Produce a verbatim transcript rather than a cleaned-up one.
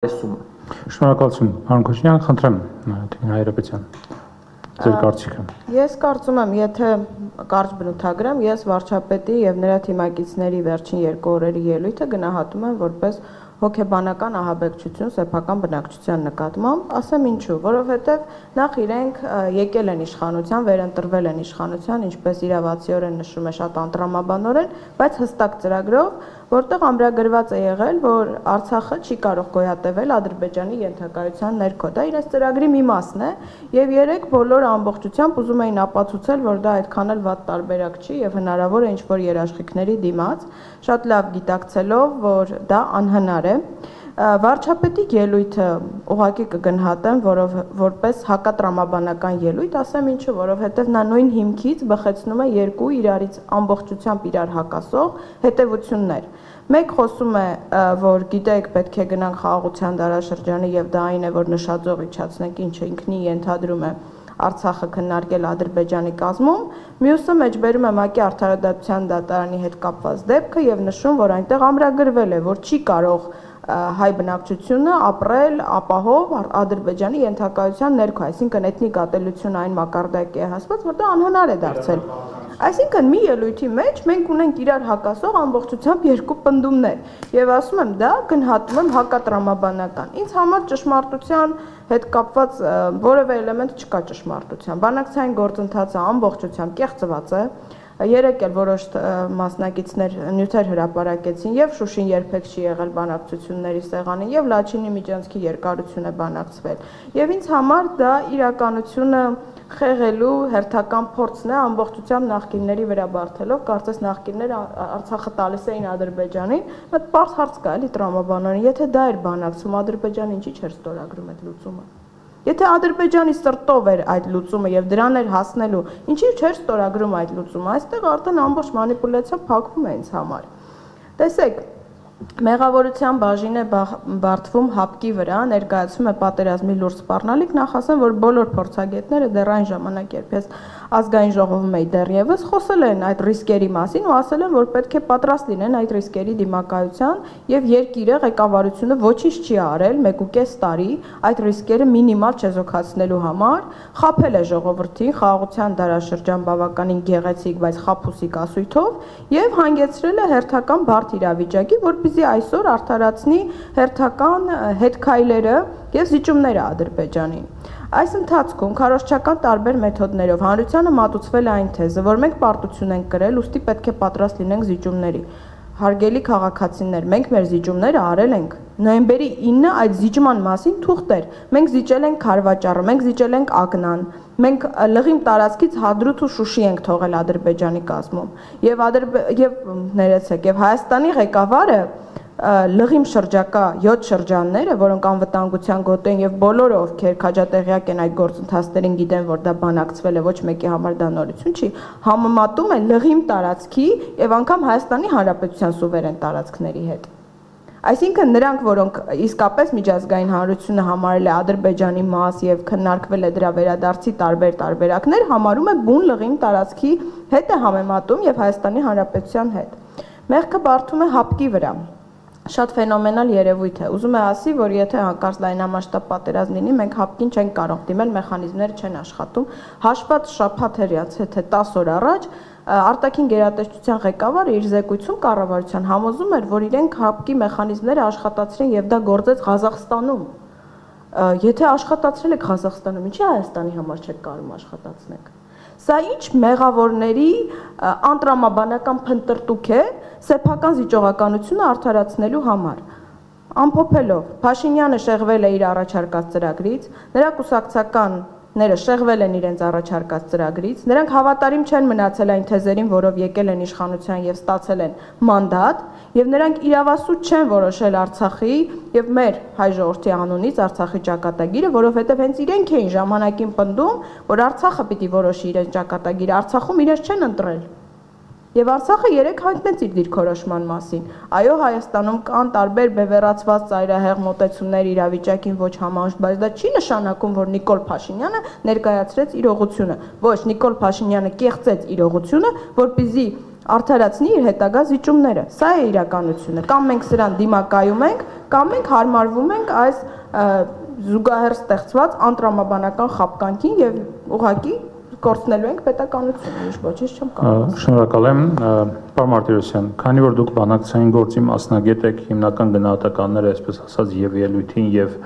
Տեսումը։ Շնորհակալություն, պարոն Քոչարյան, խնդրեմ Տիկին Հայրապետյան, ձեր կարծիքը։ Ես կարծում եմ, եթե կարճ բնութագրեմ, ես վարչապետի եւ նրա թիմակիցների վերջին երկու օրերի ելույթը գնահատում եմ որպես հոգեբանական ահաբեկչություն սեփական բնակչության նկատմամբ, ասեմ ինչու, որովհետև նախ իրենք եկել են իշխանության, վերընտրվել են իշխանության, ինչպես իրավացիորեն նշում է շատ անտրամաբանորեն, բայց հստակ ծրագրով, որտեղ ամրագրված է եղել, որ Արցախը չի կարող գոյատևել Ադրբեջանի ենթակայության ներքո։ Դա իրենց ծրագրի մի մասն է, եւ երեք բոլոր ամբողջությամբ ուզում էին ապացուցել, որ դա այդքան էլ վատ տարբերակ չի եւ հնարավոր է ինչ-որ երաշխիքների դիմաց, շատ լավ գիտակցելով, որ դա անհնար է։ Վարչապետի ելույթը ուղղակի կգնահատեմ, որով որպես հակատրամաբանական ելույթ, ասեմ ինչու, որովհետև նա նույն հիմքից բխեցնում է երկու իրարից ամբողջությամբ իրար հակասող հետևություններ։ Մեկ խոսում է, որ գիտեք, պետք է գնանք խաղաղության դարաշրջանը եւ դա այն է, որ նշաձող իջացնենք, ինչը ինքնին ենթադրում է Արցախը քննարկել Ադրբեջանի կազմում, մյուսը մեջբերում է ՄԱԿ-ի արդարադատության դատարանի հետ կապված դեպքը եւ նշում, որ այնտեղ ամրագրվել է, որ չի կարող հայ բնակչությունը ապրել ապահով Ադրբեջանի ենթակայության ներքո, այսինքն էթնիկ ատելությունը այն մակարդակի է հասված, որ դա անհնար է դարձել։ Այսինքն մի ելույթի մեջ մենք ունենք իրար հակասող ամբողջությամբ երկու պնդումներ եւ ասում եմ դա գնահատում եմ հակատրամաբանական։ Ինձ համար ճշմարտության հետ կապված որևէ էլեմենտ չկա ճշմարտության։ Բանակցային գործընթացը ամբողջությամբ կեղծված է։ Երեք էլ որոշ մասնակիցներ նյութեր հրապարակեցին եւ Շուշին երբեք չի եղել բանակցությունների սեղանին եւ Լաչինի միջանցքի երկարություն է բանակցվել։ Եվ ինձ համար դա իրականությունը խեղելու հերթական փորձն է ամբողջությամբ նախկինների վրա բարթելով, կարծես նախկինները Արցախը տալիս էին Ադրբեջանին, բայց պարզ հարց կա էլի տրամաբանորեն, եթե դա էր բանակցում, Ադրբեջանը ինչի՞ չէր ստորագրում այդ լուծումը։ Եթե Ադրբեջանի սրտով էր այդ լուծումը եւ դրան էր հասնելու, ինչի՞ չէր ստորագրում այդ լուծումը, այստեղ արդեն ամբողջ մանիպուլյացիա փակվում է ինձ համար։ Տեսեք, մեղավորության բաժին է բարդվում հապկի վրա, ներկայացում է պատերազմի լուրջ սպառնալիք, նախ ասեմ, որ բոլոր փորձագետները դեռ այն ժամանակ, երբ ես ազգային ժողովում էի դեռևս, խոսել են այդ ռիսկերի մասին ու ասել են, որ պետք է պատրաստ լինեն այդ ռիսկերի դիմակայության եւ երկիրը ղեկավարությունը ոչինչ չի արել մեկ ու կես տարի այդ ռիսկերը մինիմալ չեզոքացնելու համար, խաբել է ժողովրդին խաղաղության դարաշրջան բավականին գեղեցիկ, բայց խաբուսիկ ասույթով եւ հանգեցրել է հերթական բարդ իրավիճակի, որպեսզի այսօր արդարացնի հերթական հետքայլերը եւ զիջումները Ադրբեջանին։ Այս ընթացքում քարոզչական տարբեր մեթոդներով հանրությանը մատուցվել է այն թեզը, որ մենք պարտություն ենք կրել, ուստի պետք է պատրաստ լինենք զիջումների։ Հարգելի քաղաքացիներ, մենք մեր զիջումները արել ենք։ Նոյեմբերի ինը այդ զիջման մասին թուղթ էր։ Մենք զիջել ենք Խարվաճառը, մենք զիջել ենք Ակնան, մենք լղիմ տարածքից Հադրութ ու Շուշի ենք թողել Ադրբեջանի կազմում։ Եվ եւ ներեցեք, եւ Հայաստանի ղեկավարը լղիմ շրջակա յոթ շրջանները, որոնք անվտանգության գոտի են եւ բոլորը, ովքեր քաջատեղյակ են այդ գործընթացներին, գիտեն, որ դա բանակցվել է, ոչ մեկի համար դա նորություն չի, համեմատում են լղիմ տարածքի եւ անգամ Հայաստանի Հանրապետության սուվերեն տարածքների հետ։ Այսինքն նրանք, որոնք իսկապես միջազգային հանրությունը համարել է Ադրբեջանի մաս եւ քննարկվել է դրա վերադարձի տարբեր տարբերակներ, համարում է բուն լղիմ տարածքի հետ է համեմատում եւ Հայաստանի Հանրապետության հետ։ Մեղքը բարդում է հապկի վրա։ Շատ ֆենոմենալ երևույթ է։ Ուզում է ասի, որ եթե հանկարծ լայնամասշտաբ պատերազմ լինի, մենք հապկին չենք կարող դիմել, մեխանիզմները չեն աշխատում։ Հաշված շաբաթերից թե տասը օր առաջ արտաքին գերատեսչության ղեկավարը իր զեկույցում կառավարության համոզում էր, որ իրենք հապկի մեխանիզմները աշխատացրին եւ դա գործեց Ղազախստանում։ Եթե աշխատացրել եք Ղազախստանում, ինչի Հայաստանի համար չեք կարող աշխատացնեք։ Սա ինչ մեղավորների անտրամաբանական փնտրտուք է սեփական զիջողականությունը արդարացնելու համար։ Ամփոփելով, Փաշինյանը շեղվել է իր առաջարկած ծրագրից, նրա կուսակցականները շեղվել են իրենց առաջարկած ծրագրից, նրանք հավատարիմ չեն մնացել այն թեզերին, որով եկել են իշխանության եւ ստացել են մանդատ, եւ նրանք իրավասու չեն որոշել Արցախի եւ մեր հայ ժողովրդի անունից Արցախի ճակատագիրը, որովհետեւ հենց իրենք էին ժամանակին պնդում, որ Արցախը պիտի որոշի իրենց ճակատագիրը, Արցախում իրենց չեն ընտրել։ Եվ Արցախը երեք հայտնեց իր դիրքորոշման մասին։ Այո, Հայաստանում կան տարբեր բևեռացված ծայրահեղ մոտեցումներ իրավիճակին ոչ համահունչ, բայց դա չի նշանակում, որ Նիկոլ Փաշինյանը ներկայացրեց իրողությունը։ Ոչ, Նիկոլ Փաշինյանը կեղծեց իրողությունը, որպեսզի արդարացնի իր հետագա զիջումները։ Սա է իրականությունը։ Կամ մենք սրան դիմակայում ենք, կամ մենք հարմարվում ենք այս զուգահեռ ստեղծված անտրամաբանական խապկանքին եւ ուղղակի կորցնելու ենք պետականությունը, ինչ ոչինչ չեմ կարող։ Շնորհակալ եմ, պարոն Մարտիրոսյան, քանի որ դուք բանակցային գործի մասնագետ եք, հիմնական գնահատականները, այսպես ասած, եւ ելույթին եւ